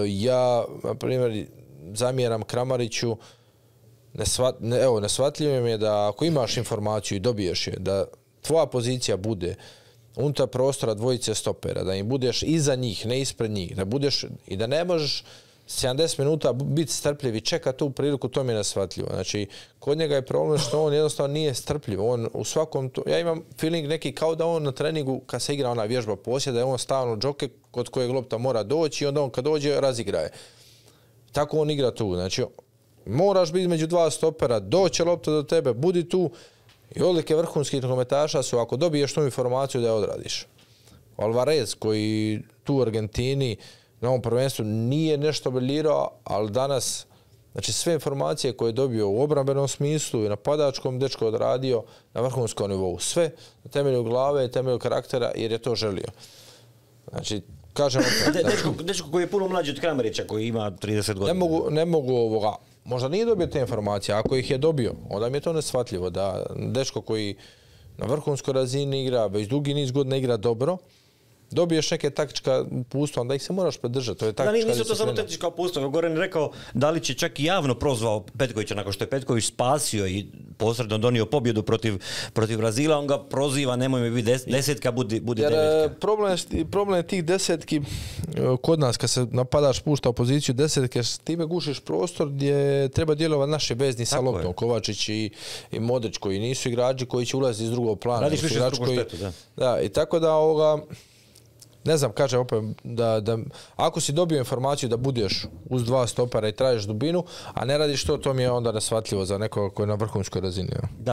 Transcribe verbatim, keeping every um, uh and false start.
Ja, na primjer, zamjeram Kramariću, nesvat, ne, evo, neshvatljivo mi je da ako imaš informaciju i dobiješ je, da tvoja pozicija bude unutar prostora dvojice stopera, da im budeš iza njih, ne ispred njih, da budeš i da ne možeš sedamdeset minuta biti strpljiv i čekati tu priliku, to mi je neshvatljivo. Znači, kod njega je problem što on jednostavno nije strpljiv. On u svakom, to, ja imam feeling neki kao da on na treningu, kad se igra ona vježba posjeda, je on stalno džoke kod kojeg lopta mora doći i onda on kad dođe razigraje. Tako on igra tu. Znači, moraš biti među dva stopera, doće lopta do tebe, budi tu i odlike vrhunskih nogometaša su ako dobiješ tu informaciju da je odradiš. Alvarez koji tu u Argentini na ovom prvenstvu nije nešto briljirao, ali danas, znači sve informacije koje je dobio u obrambenom smislu i napadačkom, dečko odradio na vrhunskom nivou. Sve na temelju glave i temelju karaktera jer je to želio. Znači, kažem opet... Da, dečko, dečko koji je puno mlađi od Kramarića, koji ima trideset godina. Ne mogu, ne mogu ovoga, možda nije dobio te informacije, ako ih je dobio, onda mi je to neshvatljivo da dečko koji na vrhunskoj razini igra, već dugi niz godina igra dobro, dobiješ neke taktička upustva, onda ih se moraš podržati. To je taktička da, nisu to samo taktička upustva. Goran je rekao da li će čak i javno prozvao Petkovića nakon što je Petković spasio i posredno donio pobjedu protiv, protiv Brazila, on ga proziva, nemoj mi biti des, desetka, budi, budi Jer, devetka. Problem, problem je tih desetki, kod nas kad se napadaš pušta u poziciju desetke, time gušiš prostor gdje treba djelovati naše vezni sa loptom, Kovačić i, i Modrić koji nisu igrači koji će ulaziti iz drugog plana. Radiš više s drugom štetu, da. Da, i tako da ovoga, ne znam, kažem opet, da, da ako si dobio informaciju da budeš uz dva stopera i tražiš dubinu, a ne radiš to, to mi je onda neshvatljivo za nekoga koji je na vrhunskoj razini.